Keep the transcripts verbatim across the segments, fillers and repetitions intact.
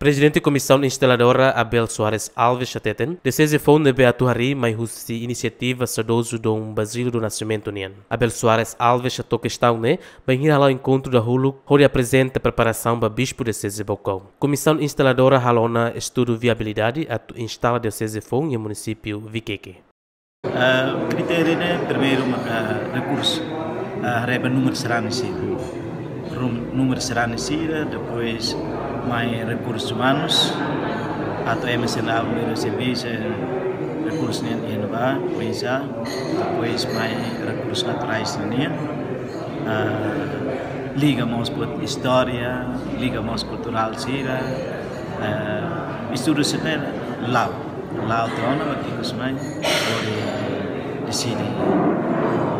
Prezidente Komisaun Instaladora Abel Soares Alves hateten, dioseze foun ne'ebé atu harii mai husi inisiativa saudozu Dom Basílio do Nascimento nian. Abel Soares Alves hato'o kestaun ne'e bainhira hala'o enkontru dahuluk hodi aprezenta preparasaun ba Bispu Dioseze Baucau. Komisaun Instaladora halo ona estudu viabilidade atu instala dioseze foun iha munisípiu Viqueque. Ah, kritériu ne'e primeiru maka rekursu, ah, haree ba númeru sarani sira. Rum-, númeru sarani sira, depois mai rekursus umanus, atu M S N A primeiru servisu, eh, rekursu nian iha ne'ebá, oinsá, depois mai rekursus naturais nian, ah, liga mós ho istória, liga mós kulturál sira, eh, estudu sira-ne'e la'o. La'o tiha ona, mas ikus mai hodi deside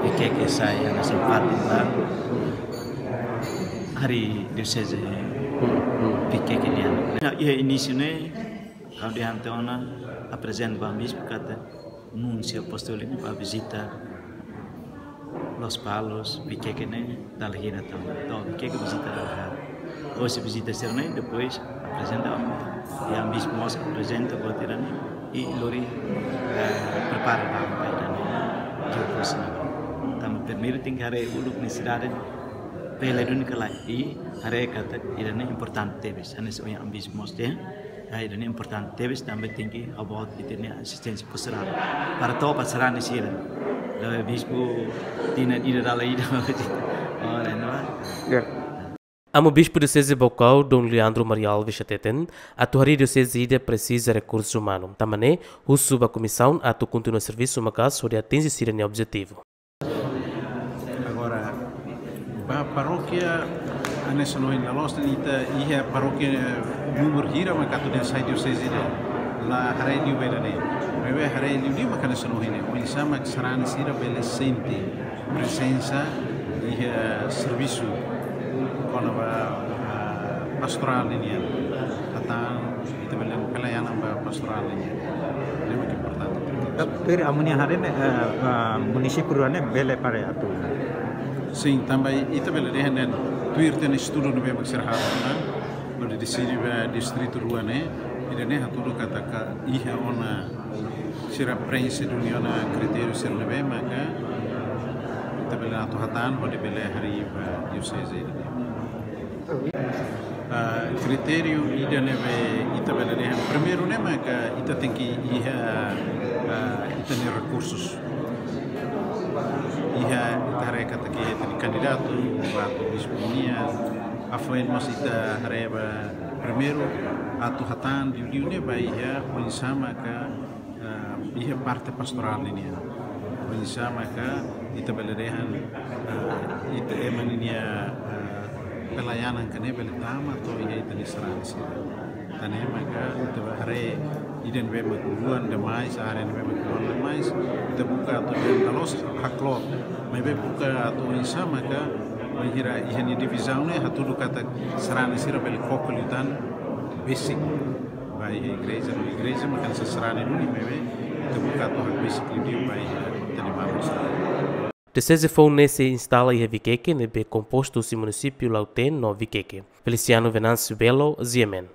Viqueque sai hanesan fatin ba harii dioseze Viqueque nian. Iha inísiu ne'e, ha'u dehan tiha ona, aprezenta ba Bispu katak núnsiu apostóliku ba vizita Lospalos, Viqueque ne'e dala hira tan. To'o Viqueque vizita dala haat. Ohin vizita sira-ne'e, depois aprezenta, iha Bispu mós aprezenta buat ida-ne'e, i lori, eh, prepara ba ida-ne'e. Joko sina. Tanba primeiru tenke haree uluk nesesidade, bele duni ka lae, i haree katak ida-ne'e importante tebes. Hanesan ohin Bispu mós dehan, ah, ida-ne'e importante tebes, tanba tenke about ita-nia asisténsia pastorál. Para to'o ba sarani sira. La'ós Bispu tinan ida dala ida. Oh, lain, no? Ya. Amu Bispu Dioseze Baucau, Dom Leandro Maria Alves hateten, atu harii dioseze ida presiza rekursu umanu. Tanba ne'e, husu ba komisaun atu kontinua servisu maka'as hodi atinje sira-nia objetivu. Agora, ba parókia, hanesan ohin laloos ne'e ita iha parókia númeru hira maka atu dehan sai dioseze ida. La haree liu ba ida-ne'e. Maibé haree liu liu maka hanesan ohin ne'e. Oinsá mak sarani sira bele sente prezensa iha servisu kona-ba, ah, pastorál nian. Hatán, ita bele pelayanan ba pastorál nian. Ne'e mak importante. Tuir amu-nia haree ne'e, eh, eh, munisípiu rua ne'e bele para atu. Sin, tanba ita bele dehan ne'e, tuir tan estudu ne'ebé mak sira halo ona, hodi deside ba distritu rua ne'e, ida-ne'e hatudu katak iha ona sira preenxe duni ona kritériu sira ne'ebé maka ita bele atu hatán hodi bele harii ba dioseze ida-ne'e. Ah, kritériu ida ne'ebé ita bele dehan primeiru ne'e maka ita tenke iha, ah, ita-nia rekursus. Iha, ita haree katak iha ita-nia kandidatu ba atu bispu nian. Hafoin mós ita haree ba primeiru atu hatán liu-liu ne'e ba iha oinsá maka, eh, iha parte pastorál nian. Oinsá maka ita bele dehan, eh, ita ema ninia, eh, pelayanan ka ne'e bele tama to'o iha ita-nia sarani sira. Tan ne'e maka ita haree ida ne'ebé mak luan demais, área ne'ebé mak luan demais, ita buka atu dehan la'ós hakloot, maibé buka atu oinsá maka, bainhira iha nia divizaun ne'e hatudu katak sarani sira bele koko liután besik ba iha igreja, no igreja mak hanesan sarani duni, maibé ita buka atu hakbesik liután ba iha ita-nia maluk sira. Dioseze foun ne'e sei instala iha Viqueque, ne'ebé kompostu husi munisípiu Lautém no Viqueque. Feliciano Venâncio Belo, G M N.